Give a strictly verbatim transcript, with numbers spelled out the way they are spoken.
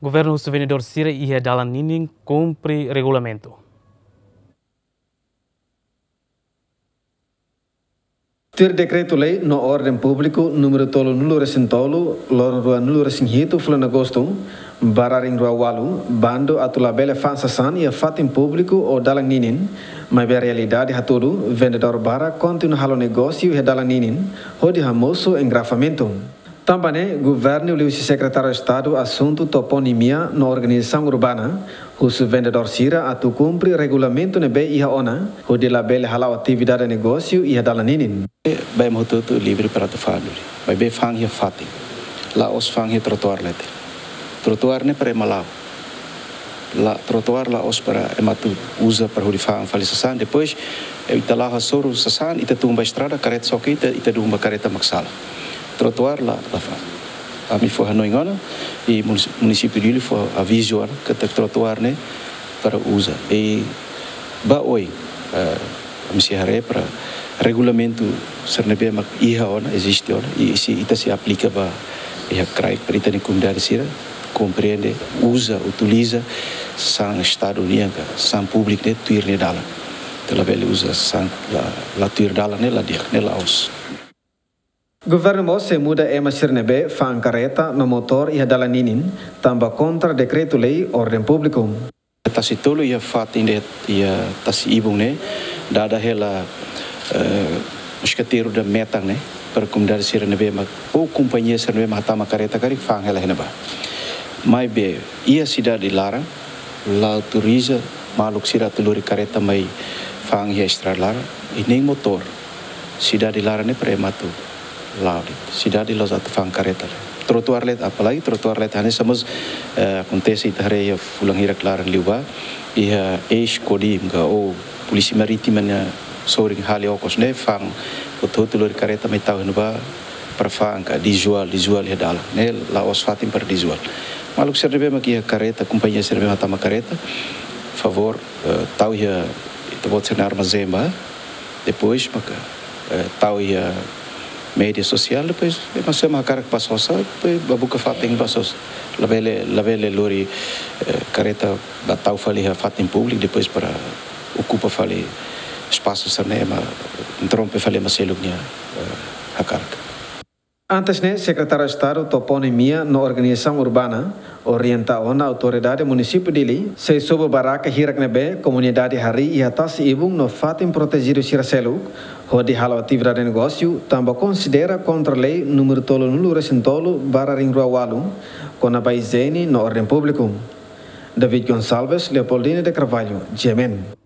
Governu husu vendedór sira iha dalan ninin kumpre regulamentu. Tuir Dekretu-Lei no Orden Públiku númeru tolunulu-resin-tolu, loron ruanulu-resin-hitu fulan Agostu, barra neen rua ualu, bandu atu labele fa'an sasán iha fatin públiku ou dalan ninin, maibé realidade hatudu, vendedór barak kontinua halo negósiu iha dalan ninin, hodi hamosu engarrafamentu. Tanba ne'e, Governu liuhusi Sekretáriu Estadu Asuntu Toponímia no Organizasaun Urbana husu vendedór sira atu kumpre regulamentu ne'ebé iha ona, hodi labele hala'o atividade negósiu iha dalan ninin. Ba ema hotu-hotu livre para atu fa'an duni. Maibé fa'an iha fatin. La'ós fa'an iha trotoár leten. Trotoár ne'e para ema la'o. La, trotoár la'ós para ema atu uza para hodi fa'an fali sasán. Depois, eh, ita la'o hasoru sasán, ita tun ba estrada, karreta xoke, ita, ita dun ba karreta mak sala. Trotoár la, la fa'an. Ami fó hanoin ona, i munis-, munisípiu Dili fó avizu ona, katak trotoár ne'e para uza. I ba oin, eh, ami sei haree para regulamentu sira ne'ebé mak iha ona, eziste ona, i sei, ita sei aplika ba iha kraik para ita-nia komunidade sira komprende, uza, utiliza sasán Estadu nian ka sasán públiku ne'e tuir nia dalan. Ita labele uza sasán la, la tuir dalan ne'e la di'ak, ne'e la'ós. Governu mós sei muda ema sira ne'ebé fa'an karreta no motór iha dalan ninin, tanba kontra Dekretu-Lei Orden Públiku. Tasi-tolu iha fatin de'it iha tasi-ibun ne'e, dada hela, eh, moskiteiru ida metan ne'e, para komunidade sira ne'ebé mak, ou kompañia sira ne'ebé mak hatama karreta karik fa'an hela iha ne'ebá. Maibé, iha sidade laran, la autoriza maluk sira atu lori karreta mai fa'an iha estrada laran, i nein motór. Sidade laran ne'e para ema atu la'o de'it. Sidade la'ós atu fa'an karreta. Trotoár leten, apalagi trotoár leten hanesan mós, eh, akontese ita haree iha fulan hirak laran liubá, iha eis-Kodim ka ou Polísia Marítima nia sorin hali okos ne'e fa'an hotu-hotu lori karreta mai tau iha ne'ebá para fa'an ka dijual, dijual iha dalan. Ne'e la'ós fatin para dijual. Maluk sira ne'ebé mak iha karreta, kompañia sira ne'ebé mak hatama karreta, favór, eh, tau iha, ita-boot sira-nia armazén ba, depois maka, eh, tau iha média sosiál, depois, eh, ema sira mak hakarak bá sosa, depois bá buka fatin bá sosa. Labele, labele lori, eh, karreta bá tau fali iha fatin públiku, depois para okupa fali espasu sira-ne'e, ema interrompe fali ema seluk nia, eh, hakarak. Antes ne'e, Sekretáriu Estadu Toponímia no Organizasaun Urbana orienta ona autoridade munisípiu Dili, sei sobu barraka hirak ne'ebé komunidade harii iha tasi-ibun no fatin protejidu sira seluk, hodi halo atividade negósiu, tanba konsidera kontra lei númeru tolunulu-resin-tolu barra neen rua ualu, kona-ba ijiene no orden públiku. David Gonçalves, Leopoldina de Carvalho, G M N.